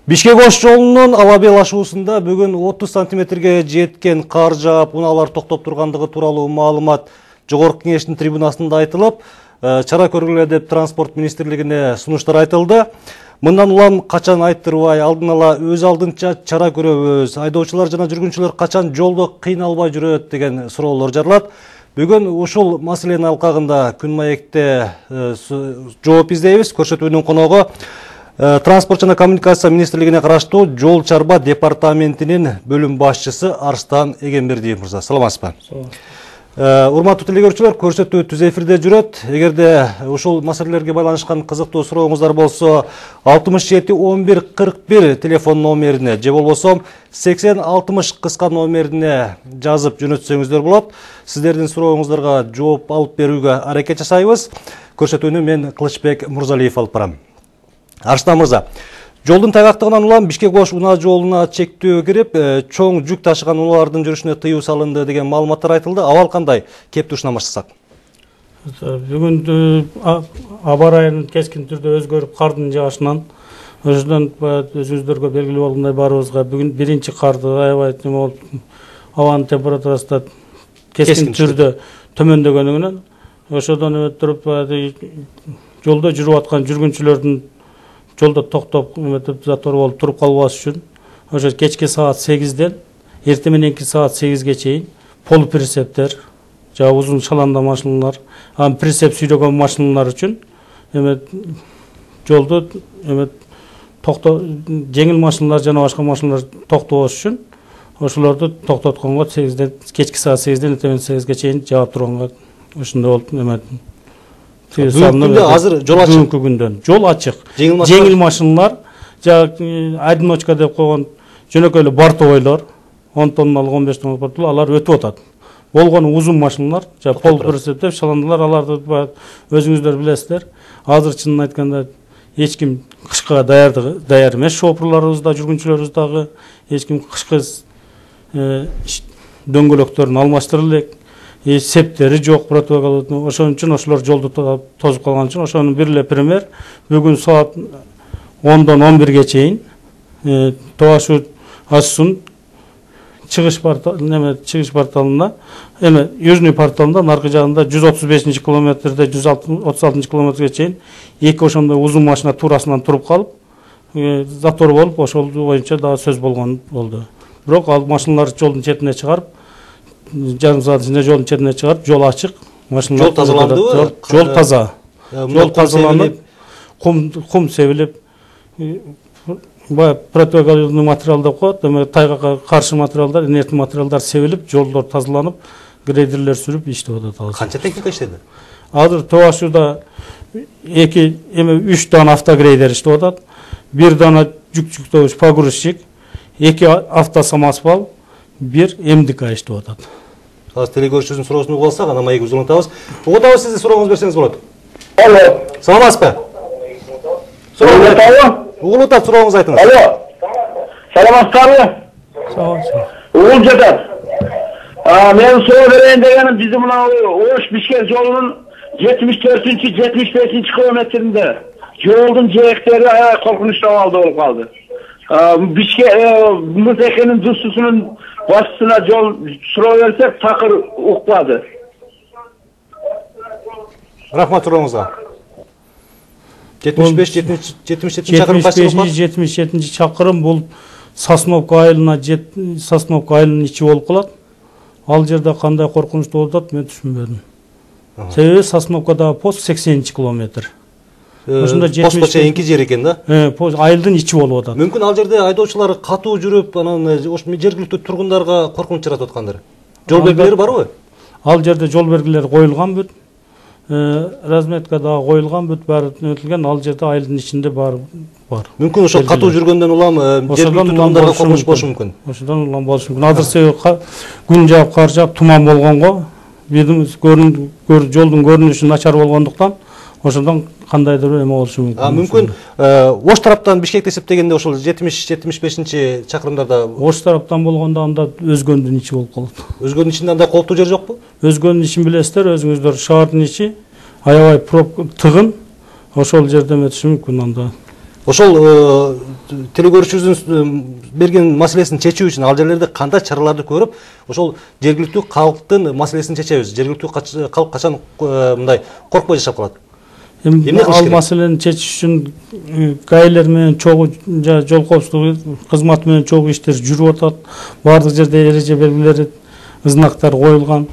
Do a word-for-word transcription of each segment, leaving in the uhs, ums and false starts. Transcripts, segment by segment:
Бишкек Ош жолунун Алабел ашуусунда бүгүн отуз сантиметрге жеткен кар жаап, унаалар токтоп тургандыгы тууралуу маалымат Жогорку Кеңештин трибунасында айтылып, чара көргүлө деп транспорт министрлигине сунуштар айтылды. Мындан улам качан айттырбай, алдын ала өз алдынча чара көрөбүз, айдоочулар жана жүргүнчүлөр качан жолдо кыйналбай жүрөт деген суроолор жаралат. Бүгүн ушул маселенин алкагында Күн маекте жооп издейбиз. Көрсөтүүнүн коногу Транспорт жана коммуникация министрлигине караштуу Жол чарба департаментинин бөлүм башчысы Арстан Эгембердиев мырза. Саламатсызбы? Урматтуу телекөрүүчүлөр, көрсөтүү түз эфирде жүрөт. Эгерде ушул маселелерге байланышкан кызыктуу сурооңуздар болсо, алтымыш жети он бир кырк бир телефон номерине же болбосо сексен алтымыш кыска номерине жазып жөнөтсөңүздөр болот. Сиздердин сурооңуздарга жооп алып берүүгө аракет жасайбыз. Көрсөтүүнү мен Кылычбек Мурзалиев алып барам. Арстан мырза, жолдун тайгактыгынан улам Бишкек Ош унаа жолуна чектөө кирип, чоң жүк ташыган унаалардын жүрүшүнө тыюу салынды деген маалыматтар айтылды. Абал кандай? Кептушуна баштасак. Бүгүн аба ырайынын кескин түрдө өзгөрүп, кардын жаашынан, ошондон өзүңүздөргө белгилүү болгондой барыбызга бүгүн биринчи карды аябай абанын температурасы да кескин түрдө төмөндөгөнүнөн, ошодон өтүп туруп жолдо жүрүп аткан жүргүнчүлөрдүн жолдо токтоп, затор болуп туруп калбаш үчүн ошо кечки саат сегизден эрте мененки саат сегизге чейин полуприцептер, жана узун шаланда машиналар, анан прицеп сүйрөгөн машиналар үчүн эме жолду эме токто жеңил машиналар жана башка машиналар токтобош үчүн ошолорду токтотконго сегизден кечки саат сегизден эртең сегизге чейин жаап турганга ошондой болуп эме азыр жол ачык. Бүгүнкү күндөн жол ачык. Жеңил машиналар, жана одиночка деп койгон жөнөкөй эле бортовойлор, он тонналык, он беш тонналык бортовойлор, алар өтүп атат. Болгону узун машиналар, жана полуприцеп деп шаландылар, аларды өзүңүздөр билесиздер. Азыр чынын айтканда эч ким кышкыга даярдыгы даяр эмес, шопурларыбыз да, жүргүнчүлөрүбүз дагы эч ким кышкы дөңгөлөктөрүн алмаштыра элек. Септери жок, протокол, ошон үчүн ошолор жолду тозуп калган үчүн ошонун бир эле пример бүгүн саат ондон он бирге чейин Тоо ашуу ашуусунун чыгыш порталына, чыгыш порталында, эме южный порталында наркы жагында жүз отуз бешинчи километрде жүз отуз алтынчы километрге чейин эки ошондой узун машина туурасынан туруп калып, затор болуп, ошол боюнча дагы сөз болгон болду. Бирок ал машиналар жолдун четине чыгарып, жарым саат ичинде жолдун четине чыгарып, жол ачык, машиналар жол тазаландыбы? Жол таза. Жол тазаланып, кум кум себилип, бая противогазный материал деп коет, эме тайгакка каршы материалдар, инертный материалдар себилип, жолдор тазаланып, грейдерлер сүрүп иштеп атат. Канча техника иштеди? Азыр Тоо ашууда эки эме үч дана автогрейдер иштеп атат. Бир дана жүк жүктөгүч погрузчик, эки автосамосвал, бир МДК иштеп атат. Азыр телекөрүүчүбүздүн суроосун угуп алсак, анан маек узун атабыз. Угутабыз, сиздин сурооңуз берсеңиз болот. Алло. Саламатсызбы? Саламатсызбы? Угулуп атат, сурооңузду айтыңыз. Алло. Саламатсызбы? Саламатсыз. Угулуп жатат. А, мен суроо берейин дегеним, биздин мына Ош Бишкек жолунун жетимиш төртүнчү жетимиш бешинчи километринде жолдун жээктери аябай коркунучтуу абалда болуп калды. Бишкек Мырзекенин дустусунун башчысына жол суроо берсек, такыр укпады. Рахмат сурооңузга. жетимиш беш жетимиш жетинчи чакырым кайсы болуп калат? жетимиш жетинчи чакырым бул Сосновка айылына Сосновка айылынын ичи болуп калат. Ал жерде кандай коркунучтуу болуп атат, мен түшүнбөдүм. Себеби Сосновкадагы пост сексенинчи километр. Ошондо жетимиш чейинки жер экен да. Э, айылдын ичи болуп атат. Мүмкүн ал жерде айдоочулар катуу жүрүп, анан ош жергиликтүү тургундарга коркунуч жаратып аткандыр. Жол белгилери барбы? Ал жерде жол белгилери коюлган бүт. Разметка дагы коюлган бүт, баары өтүлгөн, ал жерде айылдын ичинде бар бар. Мүмкүн ошол катуу жүргөндөн улам жергиликтүү тургундарга коркунуч болушу мүмкүн. Ошондон улам болушу мүмкүн. Азыр себеби күн жаап, кар жаап, туман болгонго, бирдин жолдун көрүнүшү начар болгондуктан ошондон кандайдыр эме болушу мүмкүн. А мүмкүн Ош тараптан Бишкекти эсептегенде ошол жетимиш жетимиш бешинчи чакырымдарда Ош тараптан болгондо анда өзгөндүн ичи болуп калат. Өзгөндүн ичинде андай кооптуу жер жокпу? Өзгөндүн ичин билесиздер, өзүңүздөр шаардын ичи аябай тыгын, ошол жерде өтүшү мүмкүн анда. Ошол телекөрүүчүбүздүн берген маселесин чечүү үчүн ал жерлерде кандай чараларды көрүп, ошол жергиликтүү калктын маселесин чечебиз. Жергиликтүү калк качан мындай коркпой жашап калат? Ал маселени чечиш үчүн гаилер менен чогуу жол коопсуздугу кызматы менен чогуу иштер жүрүп атат. Бардык жерде эреже белгилери, знактар коюлган,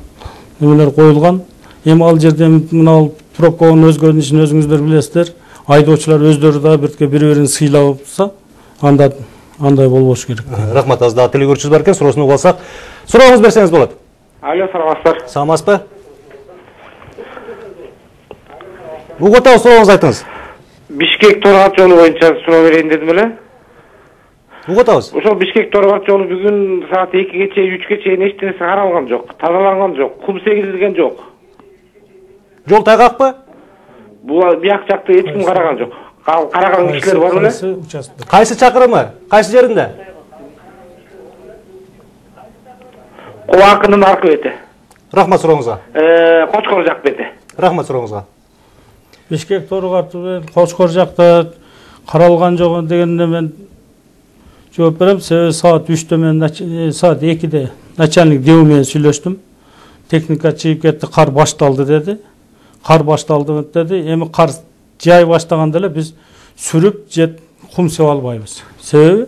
немелер коюлган. Эми ал жерде мына пробканын өзгөрүшүн өзүңүздөр билесиздер. Айдоочулар өздөрү да бирке бири-бирин сыйлапса, анда андай болбош керек. Рахмат, аз да телекөрүүчүбүз бар экен, суроосун угуп алсак. Сурооңуз берсеңиз болот. Алло, саламатсыздар. Саламатсызбы? Угуп атабыз, сурооңузду айтыңыз. Бишкек Торгат жолу боюнча суроо берейин дедим эле. Угуп атабыз. Ошол Бишкек Торгат жолу бүгүн саат экиге чейин, үчкө чейин эч нерсе каралган жок, тазаланган жок, кум сегизилген жок. Жол тайгакпы? Бул бияк жакты эч ким караган жок. Караган кишилер бар беле? Кайсы чакырымы? Кайсы жеринде? Кубакынын аркы бети. Рахмат сурооңузга. Э, Кочкор жак бети. Рахмат сурооңузга. Бишкек Торгат Кочкор жакта каралган жок дегенде мен жооп берем. Себеби саат үчтө мен саат экиде начальник Деу менен сүйлөштүм. Техника чыгып кетти, кар башталды деди. Кар башталды деди. Эми кар жай баштаганда эле биз сүрүп жет кум сеп албайбыз. Себеби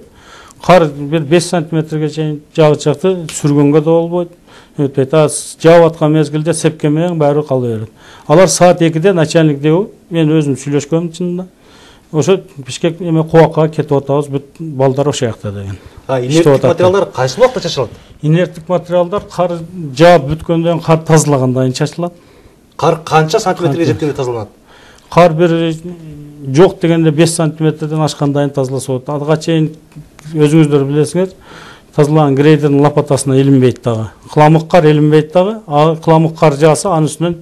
кар бир беш сантиметрге чейин жагып чыкты, сүргөнгө да болбойт. Өтпөйт. Жаап аткан мезгилде сепке менен баары кала берет. Алар саат экиде начальник Деу, мен өзүм сүйлөшкөм чынында. Ошо Бишкек эме Кубакка кетип атабыз, бүт балдар ошо жакта деген. Инерттик материалдар кайсы убакта чачылат? Инерттик материалдар кар жаап бүткөндөн кар тазалагандан кийин чачылат. Кар канча сантиметрге жеткенде тазаланат? Кар бир жок дегенде беш сантиметрден ашкандан кийин тазаласа болот. Ага чейин өзүңүздөр билесиңер, тазалаган грейдердин лопатасына илинбейт дагы. Кыламык кар илинбейт дагы. А кыламык кар жааса, анын үстүнөн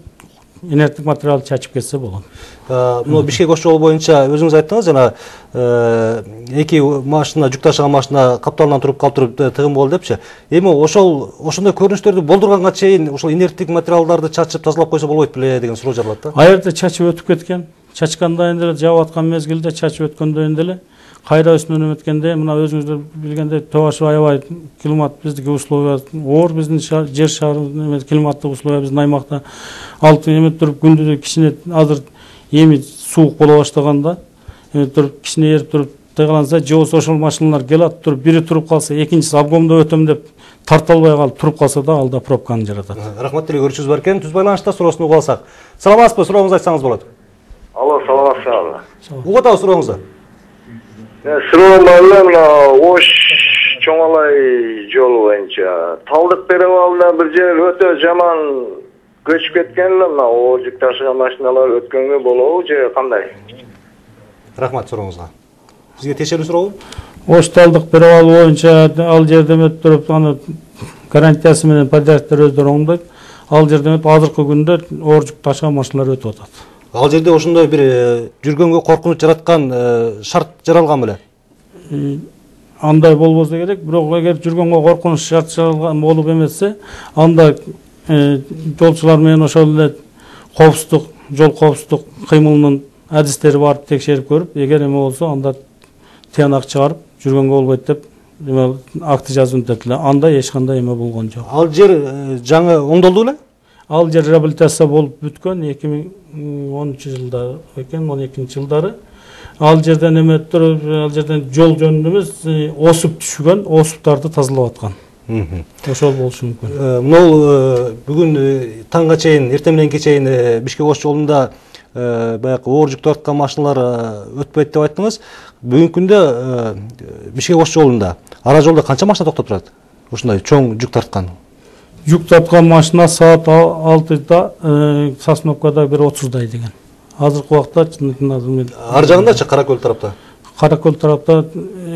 инерттик материал чачып кетсе болот. Мына Бишкек Ош жолу боюнча өзүңүз айттыңыз, жана эки машина, жүк ташыган машина капталынан туруп калтырып тыгын болду депчи. Эми ошол ошондой көрүнүштөрдү болдурганга чейин ошол инерттик материалдарды чачып тазалап койсо болбойт беле деген суроо жаралат да. Ал жерде чачып өтүп кеткен. Чачкандан кийин деле жаап аткан мезгилде чачып өткөндөн кийин деле кайра үстүнөн өткөндө мына өзүңүздөр билгендей Тоошо аябай климат биздики условия оор, биздин жер шарыбыз климаттык условия биздин аймакта алты эме туруп күндү кичине азыр эми суук боло баштаганда эме туруп кичине эрип туруп тыгаланса, же болбосо ошол машиналар келат туруп бири туруп калса, экинчиси обгомдо өтөм деп тарта албай калып туруп калса да ал да пробканы жаратат. Рахмат, телекөрүүчүбүз бар экен. Түз байланышта суроосун угуп алсак. Саламатсызбы? Сурооңузду айтсаңыз болот. Алло, саламатсызбы? Угуп атабыз сурооңузду. Суроом бар эле, мына Ош Чоңалай жолу боюнча Талдык перевалына бир жер өтө жаман көчүп кеткен эле, мына оор жүк ташыган машиналар өткөнгө болобу же кандай? Рахмат сурооңузга. Сизге тиешелүү сурообу? Ош Талдык перевалы боюнча ал жерде өтүп туруп, аны гарантиясы менен подрядчиктер өздөрү оңдойт. Ал жерде өтүп азыркы күндө оор жүк ташыган машиналар өтүп атат. Ал жерде ошондой бир жүргөнгө коркунуч жараткан шарт жаралган беле? Андай болбосо керек, бирок эгер жүргөнгө коркунуч шарт жаралган болуп эмесе, анда жолчулар менен ошол эле коопсуздук, жол коопсуздук кыймылынын адистери барып текшерип көрүп, эгер эме болсо анда тыянак чыгарып жүргөнгө болбойт деп акты жазып өтөт эле. Анда эч кандай эме болгон жок. Ал жер жаңы оңдолду беле? Ал жер реабилитация болуп бүткөн эки миң онунчу жылда экен, он экинчи жылдары. Ал жерден эме туруп, ал жерден жол жөнүндө эмес, осуп түшкөн, осуптарды тазалап аткан. Ошол болушу мүмкүн. Мына бүгүн таңга чейин, эртең мененке чейин Бишкек Ош жолунда баягы оор жүк тарткан машиналар өтпөйт деп айттыңыз. Бүгүнкү күндө Бишкек Ош жолунда, ара жолдо канча машина токтоп турат? Ушундай чоң жүк тарткан. Жүк тарткан машина саат алтыда, Сосновкада бир отуздай деген. Азыркы убакта чындыгында ар жагындачы Каракөл тарапта? Каракөл тарапта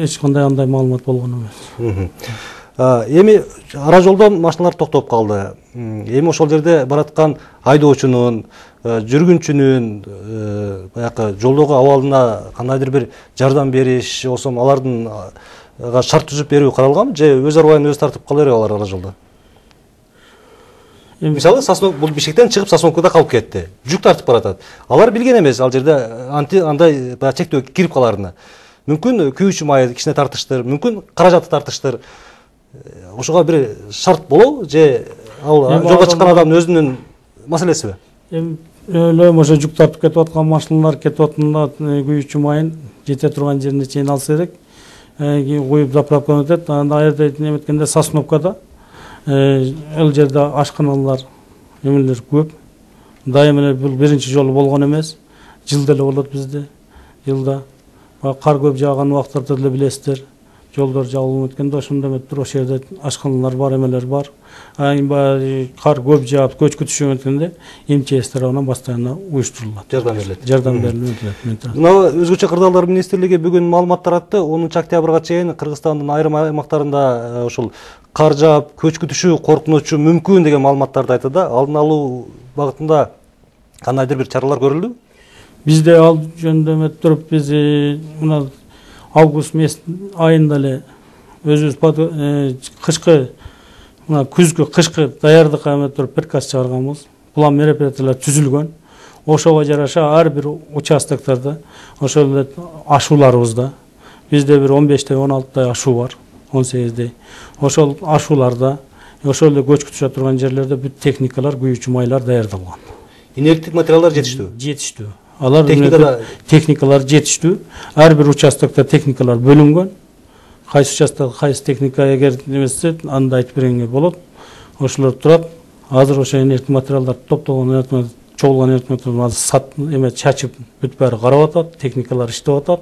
эч кандай андай маалымат болгон эмес. Эми ара жолдо машиналар токтоп калды. Эми ошол жерде бараткан айдоочунун, жүргүнчүнүн баягы жолдогу абалына кандайдыр бир жардам бериш, болсо алардын шарт түзүп берүү каралганбы же өз арбайын өзү тартып кала береби алар ара жолдо? Мисалы, бул Бишкектен чыгып Сосновкада калып кетти. Жүк тартып баратат. Алар билген эмес ал жерде андай чектөө кирип каларына. мүмкүн күйүүчү май кичине тартыштыр, мүмкүн каражатты тартыштыр. Ошого бир шарт болобу же ал жолго чыккан адамдын өзүнүн маселесиби? Эми ойлойм ошо жүк тартып кетип аткан машиналар кетип атканда күйүүчү майын жете турган жерине чейин алса керек. Куюп заправкадан өтөт. Анда аерде неметкенде Сосновкада ал жерде ашканалар эмелер көп. Дайым эле бул биринчи жолу болгон эмес. Жылда эле болот бизде. Жылда кар көп жааган убактарда деле билесиздер. Жолдор жабылып өткөндө ошондо эметип ошол жерде ашканалар бар, эмелер бар. Баягы кар көп жаап көчкү түшүп өткөндө МЧС тарабынан постоянно уюштурулат. Жардам берилет. Жардам берилет. Мына өзгөчө кырдаалдар министрлиги бүгүн маалымат таратты. онунчу октябрга чейин Кыргызстандын айрым аймактарында ушул кар жаап көчкү түшүү коркунучу мүмкүн деген маалыматтарды айтты да. Алдын алуу багытында кандайдыр бир чаралар көрүлдү? Бизде ал жөнүндө эметип туруп биз мына август месяц айында эле өзүбүз кышкы мына күзгү кышкы даярдыкка эметип туруп приказ чыгарганбыз. План мероприятиялар түзүлгөн. Ошого жараша ар бир участоктарда ошол эле ашууларыбызда бизде бир он бештэй он алтыдай ашуу бар, он сегиздей. Ошол ашууларда ошол эле көчкү түшө турган жерлерде бүт техникалар, күйүүчү майлар даярдалган. Инерттик материалдар жетиштүү? Жетиштүү. Алар техникада техникалар жетиштүү. Ар бир участокто техникалар бөлүнгөн. Кайсы участокто кайсы техника эгер немесе анда айтып бергенге болот. Ошолор турат. Азыр ошо инерттик материалдар топтолгон, чогулган инерттик материалдарды сат эме чачып бүт баары карап атат, техникалар иштеп атат.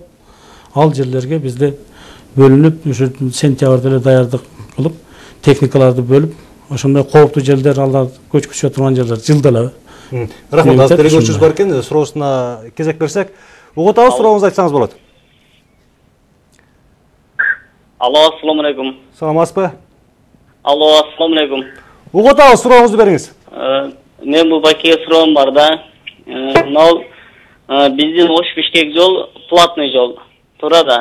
Ал жерлерге бизде бөлүнүп, ушу сентябрда эле даярдык кылып, техникаларды бөлүп, ошондой кооптуу жерлер, алар көчкү түшө турган жерлер жылда эле. Рахмат, азыр көргөчүбүз бар экен, суроосуна кезек берсек. Угут абыз, сурооңузду айтсаңыз болот. Алло, ассаламу алейкум. Саламатсызбы? Алло, ассаламу алейкум. Угут абыз, сурооңузду бериңиз. Мен бул бакие суроом бар да. Мынау биздин Ош Бишкек жол платный жол. Туура да.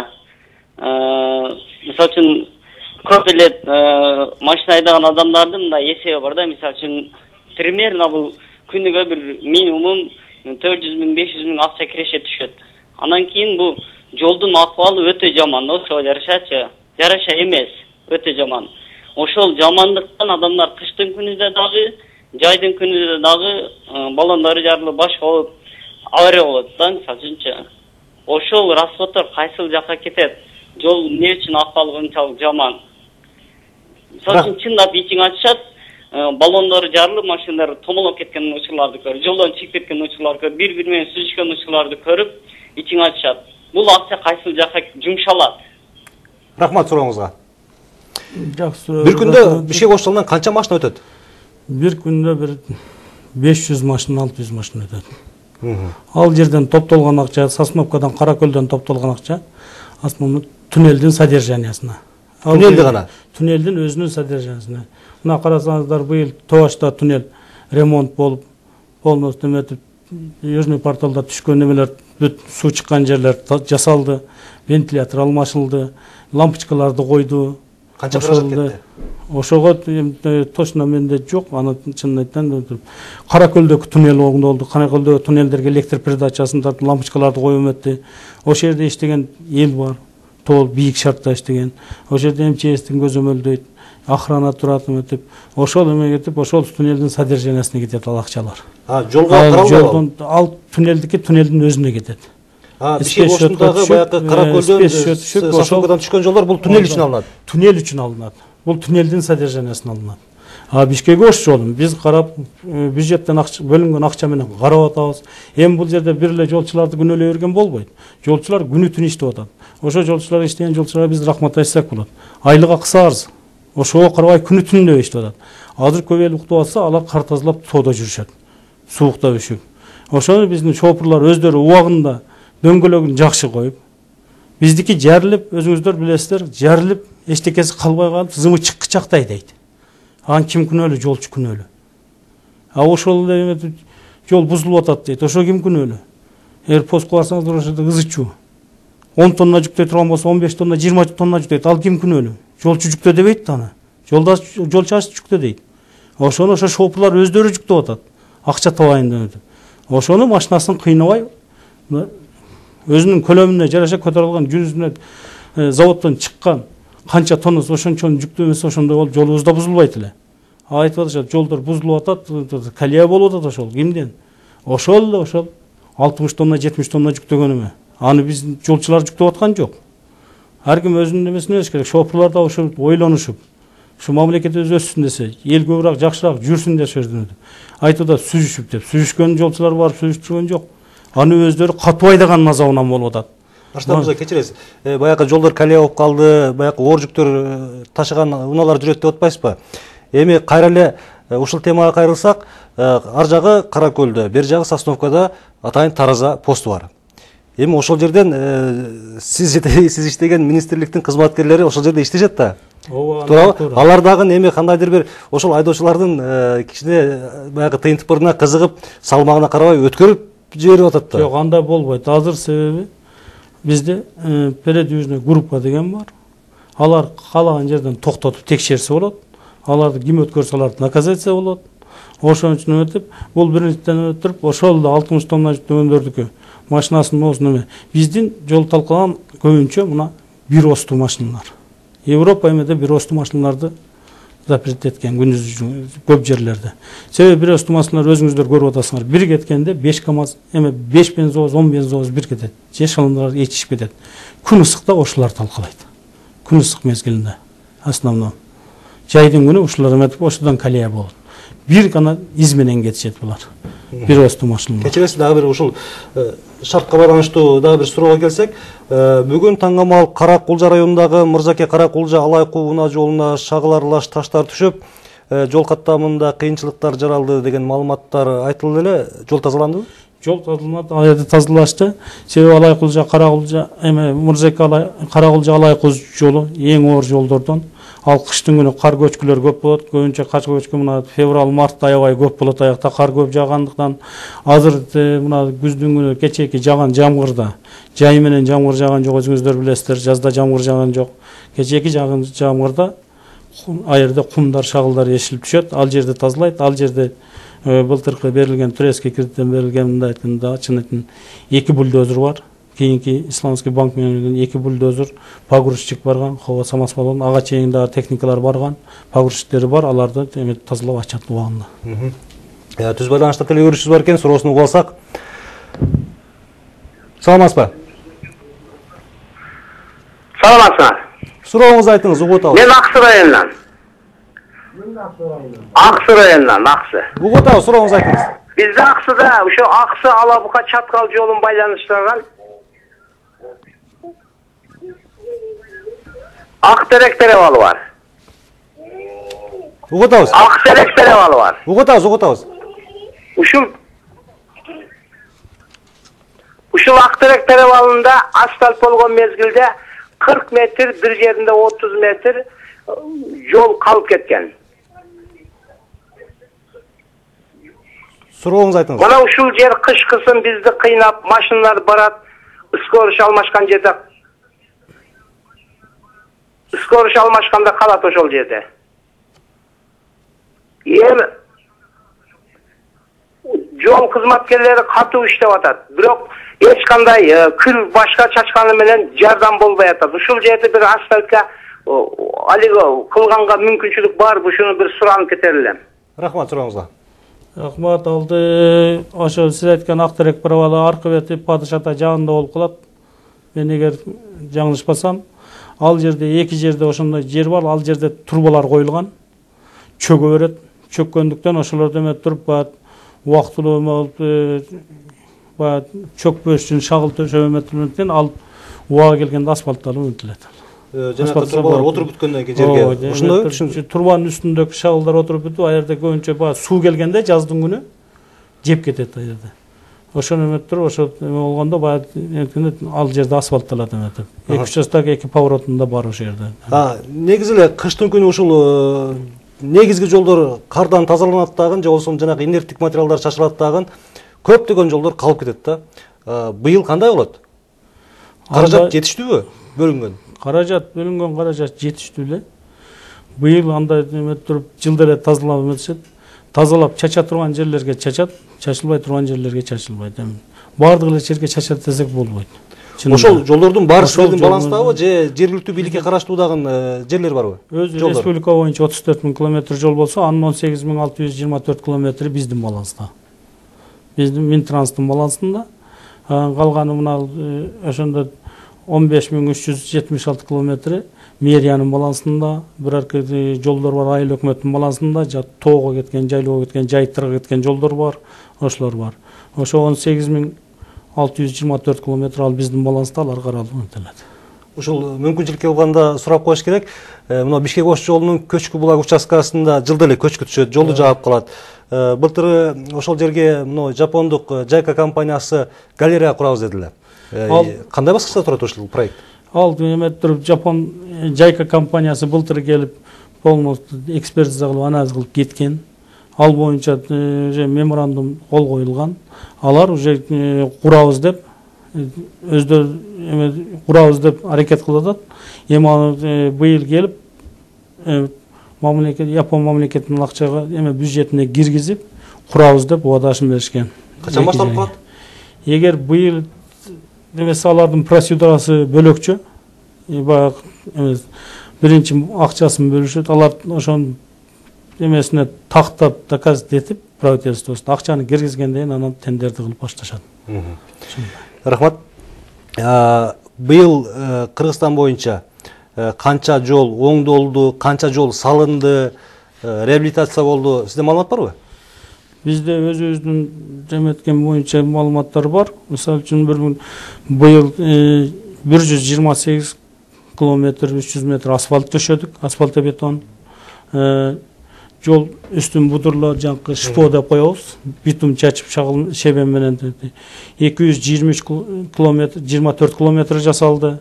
Мисалы үчүн көп эле машина айдаган адамдардын мындай эсеби бар да. Мисалы үчүн примерно бул күнүгө бир минимум төрт жүз миң беш жүз миң акча киреше түшөт. Анан кийин бул жолдун акыбалы өтө жаман, ошого жарашачы. Жараша эмес, өтө жаман. Ошол жамандыктан адамдар кыштын күнүндө дагы, жайдын күнүндө дагы баллондору жарылып башка болуп авария болот да, мисалы үчүнчү. Ошол расходдор кайсыл жакка кетет? Жол эмне үчүн акыбалы ынчалык жаман? Мисалы үчүн чындап ичиң ачышат, баллондору жарылып, машиналар томолоп кеткен учурларды көрүп, жолдон чыгып кеткен учурларды көрүп, бири-бири менен сүзүшкөн учурларды көрүп, ичиң ачышат. Бул акча кайсыл жакка жумшалат? Рахмат сурооңузга. Жакшы. Бир күндө Бишкек Ош жолунан канча машина өтөт? Бир күндө бир беш жүз машина, алты жүз машина өтөт. Ал жерден топтолгон акча, Сосновкадан, Каракөлдөн топтолгон акча, основной туннелдин содержаниясына. Туннелди гана? Туннелдин өзүнүн содержаниясына. Мына карасаңыздар, быйыл Тоошто туннель ремонт болуп, полностью эметип, Южный порталда түшкөн эмелер, бүт суу чыккан жерлер жасалды, вентилятор алмашылды, лампочкаларды койду. Канча каражат кетти? Ошого точно менде жок, аны чынын айтсам, Каракөлдөгү туннель болду, Каракөлдөгү туннелдерге электр передачасын тартып, лампочкаларды коюп эметти. Ошол жерде иштеген эл бар, тол бийик шартта иштеген. Ошол жерде МЧСтин көзөмөлдөйт, охрана турат эметип, ошол эме кетип, ошол туннелдин содержаниясына кетет ал акчалар. А, жолго каралбайбы? Ал туннелдики туннелдин өзүнө кетет. А, Бишкек Оштогу баягы Каракөлдөн, Сосновкадан түшкөн жолдор бул туннель үчүн алынат. Туннель үчүн алынат. Бул туннелдин содержаниясына алынат. А Бишкек Ош жолун биз карап, бюджеттен бөлүнгөн акча менен карап атабыз. Эми бул жерде бир эле жолчуларды күнөөлөй берген болбойт. Жолчулар күнү түн иштеп атат. Ошо жолчулар иштеген жолчуларга биз рахмат айтсак болот. Айлык акысы арыз. Ошого карабай күнү түнү иштеп атат. Азыр көп эл уктап атса, алар кар тазалап тоодо жүрүшөт. Суукта үшүп. Ошону биздин шопурлар өздөрү убагында дөңгөлөгүн жакшы коюп, биздики жарылып, өзүңүздөр билесиздер, жарылып, эчтекеси калбай калып, зымы чыккычактай дейт. Ан ким күнөөлүү? Жолчу күнөөлүү. А ошол эле жол бузулуп атат дейт. Ошо ким күнөөлүү? Эгер постко барсаңыздар, ошол ызы чуу. он тонна жүктөй турган болсо, он беш тонна, жыйырма тонна жүктөйт. Ал ким күнөөлүү? Жолчу жүктө дебейт да аны. Жолдаш жолчу жүктө дейт. Ошону ошо шопурлар өздөрү жүктөп атат. Акча табайын деп. Ошону машинасын кыйнабай өзүнүн көлөмүнө жараша көтөрүлгөн жүзүнө заводдон чыккан канча тонна ошончонун жүктөмөсү ошондой болуп жолубуз да бузулбайт эле. Айтып атышат, жолдор бузулуп атат, колея болуп атат. Ошол кимден? Ошол эле ошол алтымыш тонна, жетимиш тонна жүктөгөнүмө. Аны биз жолчулар жүктөп аткан жок. Ар ким өзүнүн немесин өзү керек. Шопурлар да ошо ойлонушуп, ушу мамлекетибиз өссүн десе, эл көбүрөөк жакшыраак жүрсүн деп сөздөнөт. Айтып атат сүзүшүп деп. Сүзүшкөн жолчулар барып сүзүштүргөн жок. Аны өздөрү катуу айдаган азабынан болуп атат. Башта мырза кечиресиз. Баягы жолдор колея болуп калды, баягы оор жүктөр ташыган унаалар жүрөт деп атпайсызбы? Эми кайра эле ушул темага кайрылсак, ар жагы Кара Көлдө, бер жагы Сосновкада атайын тараза посту бар. Эми ошол жерден сиз сиз иштеген министрликтин кызматкерлери ошол жерде иштешет да. Туурабы? Алар дагы эми кандайдыр бир ошол айдоочулардын кичине баягы тыйынтыпырына кызыгып, салмагына карабай өткөрүп жиберип атат да. Жок, андай болбойт. Азыр себеби бизде передвижный группа деген бар. Алар каалаган жерден токтотуп текшерсе болот. Аларды ким өткөрсө аларды наказация болот. Ошон үчүн өтүп, бул биринчиден өтүрүп, ошол да алтымыш тонна жүктөгөндөрдүкү машинасынын болсун эме. Биздин жол талкалган көбүнчө мына бир осту машиналар. Европа эмеде бир осту машиналарды запрет эткен күндүз көп жерлерде. Себеби бир осту машиналар өзүңүздөр көрүп атасыңар. Бир кеткенде беш КАМАЗ, эме беш бензовоз, он бензовоз бир кетет. Же шылымдар ичишип кетет. Күн ысыкта ошолар талкалайт. Күн ысык мезгилинде основном. Жайдын күнү ушулар эметип ошондон колея болот. Бир гана из менен кетишет булар. Бир осту машиналар. Кечиресиз, дагы бир ушул шартка байланыштуу дагы бир суроого келсек, бүгүн таңгамал Кара Кулжа районундагы Мырзаке Кара Кулжа Алайкуу унаа жолуна шагыларлаш таштар түшүп, жол каттамында кыйынчылыктар жаралды деген маалыматтар айтылды эле. Жол тазаландыбы? Жол тазаланат, ал жерде тазалашты. Себеби Алайкулжа Кара Кулжа эме Мырзаке Кара Кулжа Алайкуу жолу эң оор жолдордон. Ал кыштын күнү кар көчкүлөр көп болот. Көбүнчө кар көчкү мына февраль март аябай көп болот. Аякта кар көп жаагандыктан азыр мына күздүн күнү кечээки жаган жамгырда жай менен жамгыр жааган жок, өзүңүздөр билесиздер. Жазда жамгыр жааган жок. Кечээки жаган жамгырда аерде кумдар, шагылдар ешилип түшөт. Ал жерди тазалайт. Ал жерде былтыркы берилген турецкий кредиттен берилген мындай айтканда чын эки бульдозер бар. Кийинки Исламский банк менен эки бульдозер, погрузчик барган, хава самосвалдын ага чейин дагы техникалар барган, погрузчиктери бар, аларды эметип тазалап ачат убагында. Түз байланышта теле көрүүчүбүз бар экен, суроосун угуп алсак. Саламатсызбы? Саламатсызбы? Сурооңузду айтыңыз, угуп атабыз. Мен Аксы районунан. Аксы районунан, Аксы. Угуп атабыз, сурооңузду айтыңыз. Бизде Аксыда ошо Аксы Алабука Чаткал жолун байланыштырган Актерек перевалы бар. Угуп атабыз. Актерек перевалы бар. Угуп атабыз, угуп атабыз. Ушул Ушул Актерек перевалында асфальт болгон мезгилде кырк метр, бир жеринде отуз метр жол калып кеткен. Сурооңузду айтыңыз. Мына ушул жер кышкысын бизди кыйнап, машиналар барат, скорый алмашкан жерде. Скорый алмашканда калат ошол жерде. Эми жол кызматкерлери катуу иштеп атат. Бирок эч кандай кыр башка чачканы менен жардам болбой атат. Ушул жерде бир асфальтка алиго кылганга мүмкүнчүлүк барбы? Ушуну бир суранып кетер элем. Рахмат сурооңузга. Рахмат, алды ошо сиз айткан Актерек перевалы аркы бети Падыш ата жагында болуп калат. Мен эгер жаңылышпасам, ал жерде эки жерде ошондой жер бар, ал жерде турбалар коюлган. Чөгө берет. Чөккөндүктөн ошолордо эме туруп бат убактылуу болуп бат чөкпөш үчүн шагыл төшөп эметилгенден ал убага келгенде асфальтталып өтүлөт. Жанагы турбалар отуруп бүткөндөн кийин жерге ошондой түшүн турбанын үстүндөгү шагылдар отуруп бүтүп, ал жерде көбүнчө баа суу келгенде жаздын күнү жеп кетет ал жерде. Ошону эметип туруп, ошо эме болгондо баа ал жерде асфальтталат эметип. эки үч жастагы эки поворотунда бар ошол жерде. А, негизи эле кыштын күнү ушул негизги жолдор кардан тазаланат дагы, же болбосо жанагы инерттик материалдар чачылат дагы, көптөгөн жолдор калып кетет да. Быйыл кандай болот? Каражат жетиштүүбү бөлүнгөн? Каражат бөлүнгөн, каражат жетиштүү эле. Быйыл андай эметип туруп жылда эле тазалап эметишет. Тазалап чача турган жерлерге чачат, чачылбай турган жерлерге чачылбайт. Бардык эле жерге чачат десек болбойт. Ошол жолдордун баары силердин балансыңдабы же жергиликтүү бийликке караштуу дагы жерлер барбы? Өзү республика боюнча отуз төрт миң километр жол болсо, анын он сегиз миң алты жүз жыйырма төрт километри биздин баланста. Биздин Минтранстын балансында. Калганы мына ошондо он беш миң үч жүз жетимиш алты километри мэриянын балансында, бирок жолдор бар айыл өкмөттүн балансында, тоого кеткен, жайлоого кеткен, жайыттарга кеткен жолдор бар, ошолор бар. Ошо он сегиз миң алты жүз жыйырма төрт километр ал биздин баланста, алар каралып өтөлөт. Ушул мүмкүнчүлүк болгондо сурап коюш керек. Мына Бишкек Ош жолунун Көчкү булак участкасында жылда эле көчкү түшөт, жолду жаап калат. Былтыр ошол жерге мына жапондук Жайка компаниясы галерея курабыз дедилер. Кандай баскычта турат ошол проект? Ал эметип Жапон Жайка компаниясы былтыр келип полностью экспертиза кылып, анализ кылып кеткен. Ал боюнча уже меморандум кол коюлган. Алар уже курабыз деп өздөрү эме курабыз деп аракет кылып атат. Эми быйыл келип мамлекет Япон мамлекетинин акчага эме бюджетине киргизип курабыз деп убадашын беришкен. Качан башталып калат? Эгер быйыл эмес алардын процедурасы бөлөкчө. Баягы эмес биринчи акчасын бөлүшөт. Алар ошонун эмесине тактап доказать этип правительствосуна акчаны киргизгенден кийин анан тендерди кылып башташат. Рахмат. Быйыл Кыргызстан боюнча канча жол оңдолду, канча жол салынды, реабилитация болду? Сизде маалымат барбы? Бизде өзүбүздүн жеметкен боюнча маалыматтар бар. Мисалы үчүн быйыл бир жүз жыйырма сегиз километр үч жүз метр асфальт төшөдүк, асфальтобетон. Жол үстүн будурлар жанкы шпо деп коебуз. Битум чачып шагыл шебен менен эки жүз жыйырма үч километр, жыйырма төрт километр жасалды.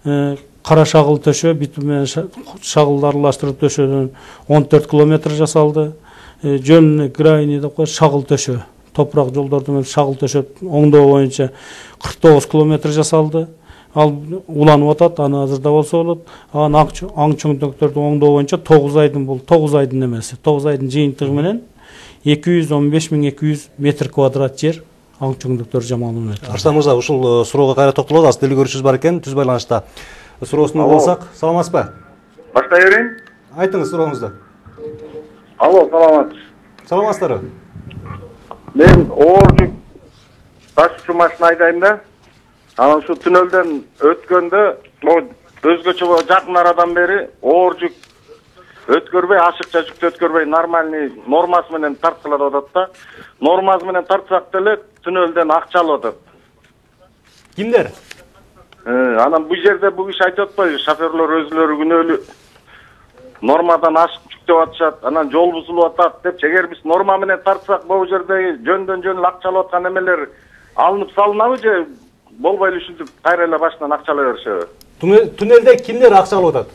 Кара шагыл төшө, битум менен шагылды аралаштырып төшөдөн он төрт километр жасалды. Жөнүнө крайний деп коебуз, шагыл төшө. Топурак жолдорду менен шагыл төшөп, оңдоо боюнча кырк тогуз километр жасалды. Ал уланып атат, аны азырда болсо болот. Анан аң чоңдуктөрдү оңдоо боюнча тогуз айдын бул, тогуз айдын эмеси, тогуз айдын жыйынтыгы менен эки жүз он беш миң эки жүз метр квадрат жер аң чоңдуктөр жамалып атат. Арслан мырза, ушул суроого кайра токтолобуз. Аз деле көрүшүбүз бар экен, түз байланышта. Суроосуна болсак, саламатсызбы? Баштай берейин. Айтыңыз сурооңузду. Алло, саламат. Саламатсыздарбы? Мен оор жүк ташуучу машина айдайм да. Анан ушу түнөлдөн өткөндө, өзгөчө жакын арадан бери оор жүк өткөрбөй, ашыкча жүктү өткөрбөй, нормальный нормасы менен тарткылап атат да. Нормасы менен тартсак деле түнөлдөн акча алып атат. Кимдер? Анан бул жерде бул иш айтып атпайбы, шоферлор өзүлөрү күнөөлүү нормадан ашык жүктөп атышат, анан жол бузулуп атат деп, эгер биз норма менен тартсак, бул жерде жөндөн жөн акча алып аткан эмелер алынып салынабы же болбой эле ушинтип кайра эле башынан акча ала беришеби? Түнөлдө кимдер акча алып атат?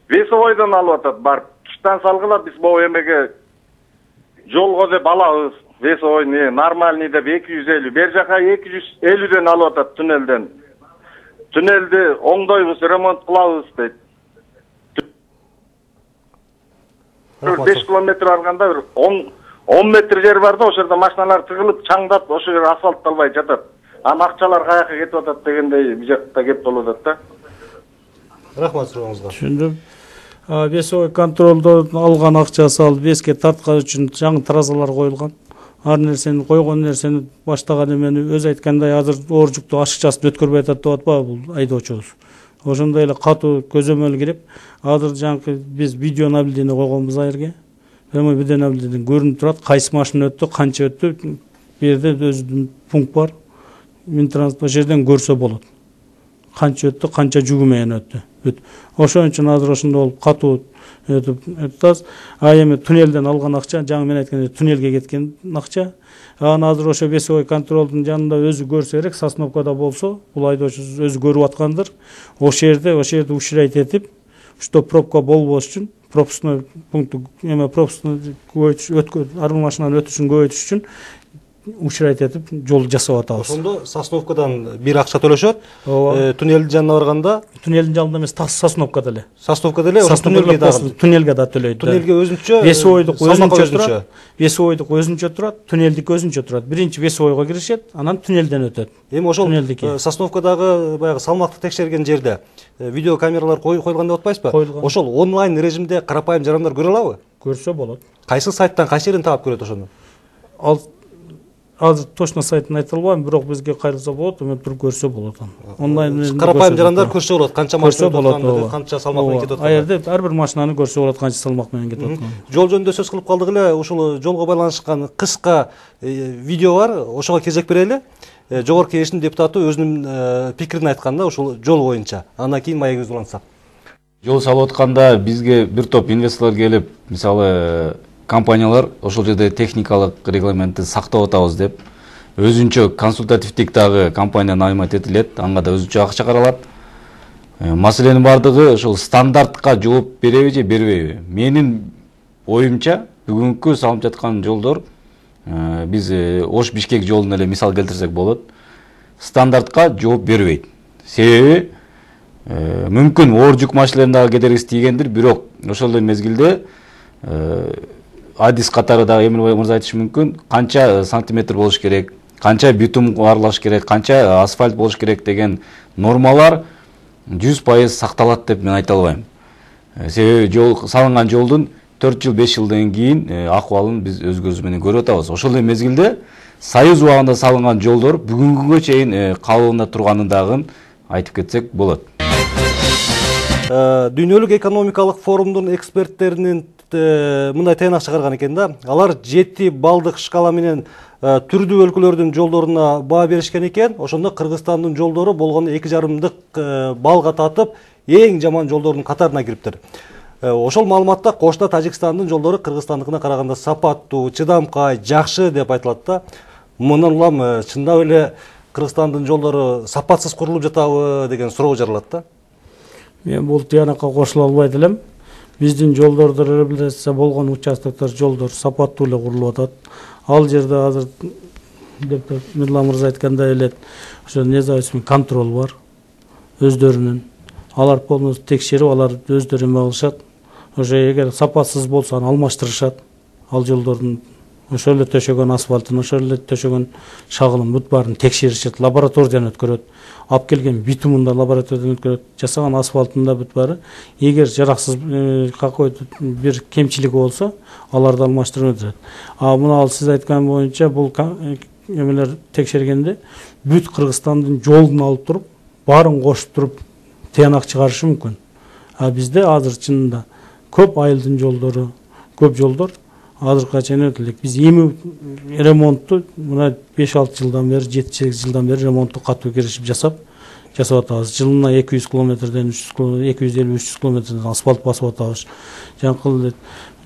Весовойдон алып атат, барып кыштан салгыла биз бул эмеге жолго деп алабыз. Весовой не нормальный деп эки жүз элүү, бер жака эки жүз элүүдөн алып атат түнөлдөн. Түнөлдү оңдойбуз, ремонт кылабыз дейт. беш километр барганда бир он метр жер бар да, ошол жерде машиналар тыгылып, чаңдап, ошол жер асфальтталбай жатат. Анан акчалар каяка кетип атат дегендей бул жакта кеп болуп атат да. Рахмат сурооңузга. Түшүндүм. Весовой контролдон алган акчасы ал веске тарткан үчүн жаңы таразалар коюлган. Ар нерсени койгон нерсени баштаган эмени өзү айткандай азыр оор жүктү ашыкчасын өткөрбөй атат деп атпайбы бул айдоочубуз. Ошондой эле катуу көзөмөл кирип, азыр жаңы биз видео наблюдение койгонбуз айырга. Эми видео наблюдение көрүнүп турат, кайсы машина өттү, канча өттү. Бу жерде өзүнүн пункт бар. Минтранспорт ошол жерден көрсө болот. Канча өттү, канча жүгү менен өттү. Ошон үчүн азыр ошондой болуп катуу өтүп, а эми туннелден алган акча, жаңы мен айткандай туннелге кеткен акча. Анан азыр ошо весовой контролдун жанында өзү көрсө керек, Сосновкада болсо, бул айдоочу өзү көрүп аткандыр. Ошол жерде, ошол жерде уширайт этип, что пробка болбош үчүн, пропускной пункт эме пропускной көбөйтүш, өткөн арбы машинанын өтүшүн көбөйтүш үчүн ушрайт этип жол жасап атабыз. Ошондо Сосновкадан бир акча төлөшөт. Ооба. Туннелдин жанына барганда Туннелдин жанында эмес, Сосновкада эле. Сосновкада эле, ошо туннелге дагы. Туннелге да төлөйт. Туннелге өзүнчө. Весовойдук өзүнчө турат. Весовойдук өзүнчө турат, туннелдик өзүнчө турат. Биринчи Весовойго киришет, анан туннелден өтөт. Эми ошол Сосновкадагы баягы салмакты текшерген жерде видео камералар коюлган деп атпайсызбы? Ошол онлайн режимде карапайым жарандар көрө алабы? Көрсө болот. Кайсы сайттан, кайсы жерден таап көрөт ошону? Ал азыр точно сайтын айта албайм, бирок бизге кайрылса болот, эми туруп көрсө болот. Онлайн карапайым жарандар көрсө болот, канча машина болот, канча салмак менен кетип аткан. А жерде ар бир машинаны көрсө болот, канча салмак менен кетип аткан. Жол жөнүндө сөз кылып калдык эле, ушул жолго байланышкан кыска видео бар, ошого кезек берели. Жогорку Кеңештин депутаты өзүнүн пикирин айтканда ушул жол боюнча. Андан кийин маегибизди улантсак. Жол салып атканда бизге бир топ инвесторлор келип, мисалы компаниялар ошол жерде техникалык регламентти сактап атабыз деп өзүнчө консультативдик дагы компания наймат этилет, анга да өзүнчө акча каралат. Маселенин бардыгы ошол стандартка жооп береби же бербейби? Менин оюмча бүгүнкү салынып жаткан жолдор, биз Ош Бишкек жолун эле мисал келтирсек болот, стандартка жооп бербейт. Себеби мүмкүн оор жүк машиналарынын дагы кедергиси тийгендир, бирок ошол эле мезгилде адис катары дагы Эмилбай мырза айтышы мүмкүн, канча сантиметр болуш керек, канча битум аралаш керек, канча асфальт болуш керек деген нормалар жүз пайыз сакталат деп мен айта албайм. Себеби жол салынган жолдун төрт жыл беш жылдан кийин акыбалын биз өз көзүбүз менен көрүп атабыз. Ошол эле мезгилде Союз убагында салынган жолдор бүгүнкү күнгө чейин калыбында турганын дагы айтып кетсек болот. Дүйнөлүк экономикалык форумдун эксперттеринин мындай тыйнак чыгарган экен да. Алар жети балдык шкала менен түрдүү өлкөлөрдүн жолдоруна баа беришкен экен. Ошондо Кыргызстандын жолдору болгону эки жарымдык балга татып, эң жаман жолдордун катарына кириптир. Ошол маалыматта кошуна Тажикстандын жолдору Кыргызстандыкына караганда сапаттуу, чыдамкай, жакшы деп айтылат да. Мындан улам чындап эле Кыргызстандын жолдору сапатсыз курулуп жатабы деген суроо жаралат да. Мен бул тыянакка кошула албайт элем. Биздин жолдордо реабилитация болгон участоктор жолдор сапаттуу эле курулуп атат. Ал жерде азыр депутат Мырлан мырза айткандай эле ошо независимый контроль бар өздөрүнүн. Алар полностью текшерип, алар өздөрү эме кылышат. Ошо эгер сапатсыз болсо аны алмаштырышат. Ал жолдордун ошол эле төшөгөн асфальтын, ошол эле төшөгөн шагылын бүт баарын текшеришет, лабораториядан өткөрөт. Алып келген битумун да лабораториядан өткөрөт, жасаган асфальтын да бүт баары. Эгер жараксыз какой-то бир кемчилиги болсо, аларды алмаштырып өтөт. А мына ал сиз айткан боюнча бул эмелер текшергенде бүт Кыргызстандын жолун алып туруп, баарын кошуп туруп тыянак чыгарышы мүмкүн. А бизде азыр чынында көп айылдын жолдору, көп жолдор азыркыга чейин өтүлөт. Биз эми ремонтту мына беш алты жылдан бери, жети сегиз жылдан бери ремонтту катуу киришип жасап, жасап атабыз. Жылына эки жүз километрден үч жүз километр, эки жүз элүү үч жүз километрден асфальт басып атабыз. Жаңкыл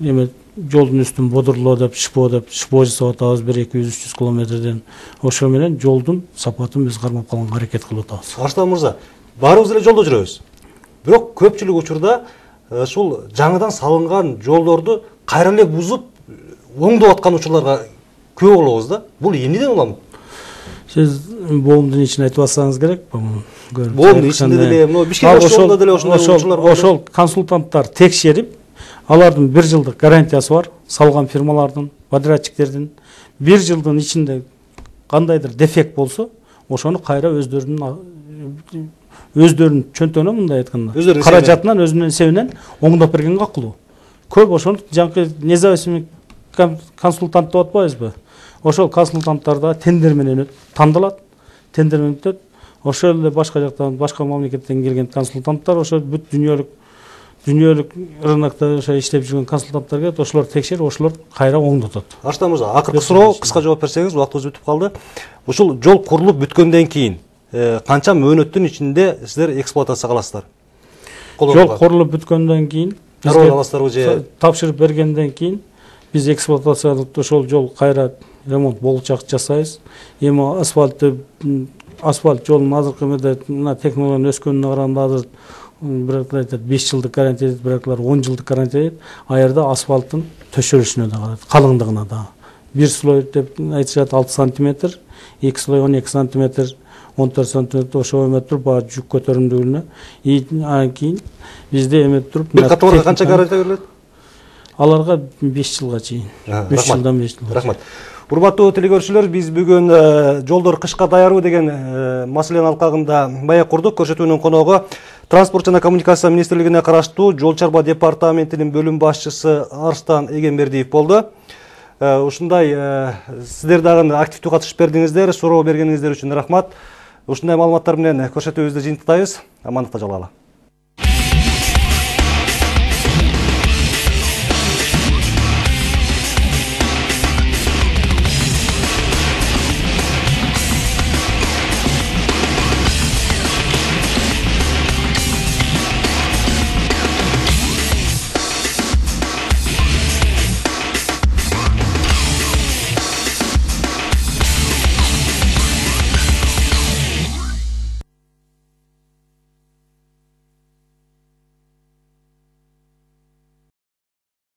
эме жолдун үстүн бодурлоо деп, шпо деп, шпо жасап атабыз бир эки жүз үч жүз километрден. Ошо менен жолдун сапатын биз кармап калганга аракет кылып атабыз. Арыштан мырза, баарыбыз эле жолдо жүрөбүз. Бирок көпчүлүк учурда ушул жаңыдан салынган жолдорду кайра эле бузуп оңдоп аткан учурларга күбө болобуз да. Бул эмнеден улам? Сиз боомдун ичин айтып атсаңыз керек. Боомдун ичинде деле, мына Бишкек жолунда деле ошондой учурлар бар. Ошол консультанттар текшерип, алардын бир жылдык гарантиясы бар, салган фирмалардын, подрядчиктердин. бир жылдын ичинде кандайдыр дефект болсо, ошону кайра өздөрүнүн өздөрүнүн чөнтөгүнөн мындай айтканда, каражатынан өзүнүн эсебинен оңдоп берген акылуу. Көп ошону жаңкы независимый консультант деп атпайбызбы? Ошол консультанттарда тендер менен тандалат, тендер менен өтөт. Ошол эле башка жактан, башка мамлекеттен келген консультанттар ошо бүт дүйнөлүк дүйнөлүк рынокто ошо иштеп жүргөн консультанттар келет, ошолор текшерип, ошолор кайра оңдотот. Арыштан мырза, акыркы суроо, кыска жооп берсеңиз, убактыбыз бүтүп калды. Ушул жол курулуп бүткөндөн кийин канча мөөнөттүн ичинде сиздер эксплуатацияга аласыздар? Жол курулуп бүткөндөн кийин, аласыздарбы же тапшырып бергенден кийин биз эксплуатациялык ошол жол кайра ремонт болчак жасайбыз. Эми асфальтты асфальт жолдун азыркы эмеде мына технологиянын өскөнүнө караганда азыр бирок айтат беш жылдык гарантия дейт, бирок он жылдык гарантия дейт. А жерде асфальттын төшөлүшүнө да карайт, калыңдыгына да. бир слой деп айтышат алты сантиметр, эки слой он эки сантиметр, он төрт сантиметр ошо эметип туруп баягы жүк көтөрүмдүүлүгүнө. Анан кийин бизде эметип туруп бир каталарга канча гарантия берилет? Аларга беш жылга чейин. үч жылдан беш жылга. Рахмат. Урматтуу телекөрүүчүлөр, биз бүгүн жолдор кышка даярбы деген маселенин алкагында бая курдук. Көрсөтүүнүн коногу Транспорт жана коммуникация министрлигине караштуу Жол чарба департаментинин бөлүм башчысы Арстан Эгембердиев болду. Ушундай сиздер дагы активдүү катышып бердиңиздер, суроо бергениңиздер үчүн рахмат. Ушундай маалыматтар менен көрсөтүүбүздү жыйынтыктайбыз. Амандыкта жалгала.